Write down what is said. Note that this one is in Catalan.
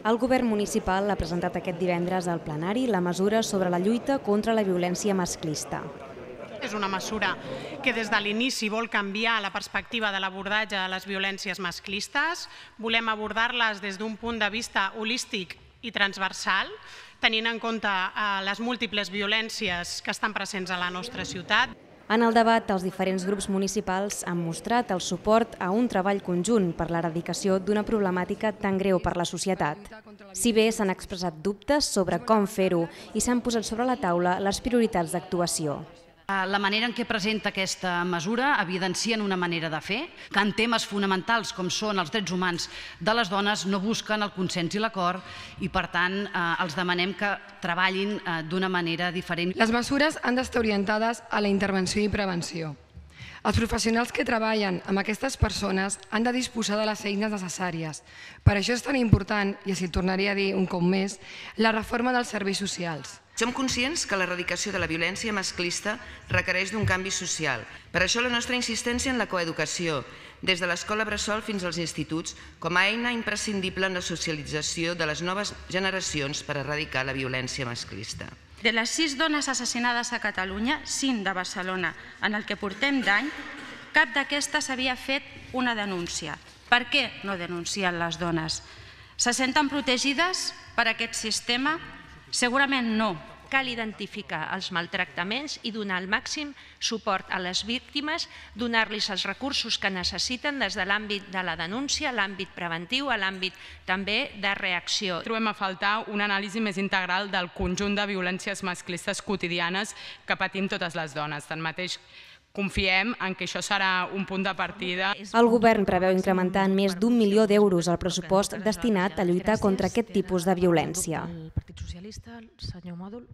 El govern municipal ha presentat aquest divendres al plenari la mesura sobre la lluita contra la violència masclista. És una mesura que des de l'inici vol canviar la perspectiva de l'abordatge de les violències masclistes. Volem abordar-les des d'un punt de vista holístic i transversal, tenint en compte les múltiples violències que estan presents a la nostra ciutat. En el debat, els diferents grups municipals han mostrat el suport a un treball conjunt per l'erradicació d'una problemàtica tan greu per la societat. Si bé s'han expressat dubtes sobre com fer-ho i s'han posat sobre la taula les prioritats d'actuació. La manera en què presenta aquesta mesura evidencien una manera de fer, que en temes fonamentals com són els drets humans de les dones no busquen el consens i l'acord i, per tant, els demanem que treballin d'una manera diferent. Les mesures han d'estar orientades a la intervenció i prevenció. Els professionals que treballen amb aquestes persones han de disposar de les eines necessàries. Per això és tan important, i així tornaré a dir un cop més, la reforma dels serveis socials. Som conscients que l'erradicació de la violència masclista requereix d'un canvi social. Per això la nostra insistència en la coeducació, des de l'escola bressol fins als instituts, com a eina imprescindible en la socialització de les noves generacions per erradicar la violència masclista. De les 6 dones assassinades a Catalunya, 5 de Barcelona, en el que portem d'any, cap d'aquestes havia fet una denúncia. Per què no denuncien les dones? Se senten protegides per aquest sistema? Segurament no. Cal identificar els maltractaments i donar el màxim suport a les víctimes, donar-los els recursos que necessiten des de l'àmbit de la denúncia, l'àmbit preventiu, a l'àmbit també de reacció. Trobem a faltar una anàlisi més integral del conjunt de violències masclistes quotidianes que patim totes les dones. Tanmateix, confiem en que això serà un punt de partida. El govern preveu incrementar en més d'1 milió d'euros el pressupost destinat a lluitar contra aquest tipus de violència. El Partit Socialista, el senyor Mòdol.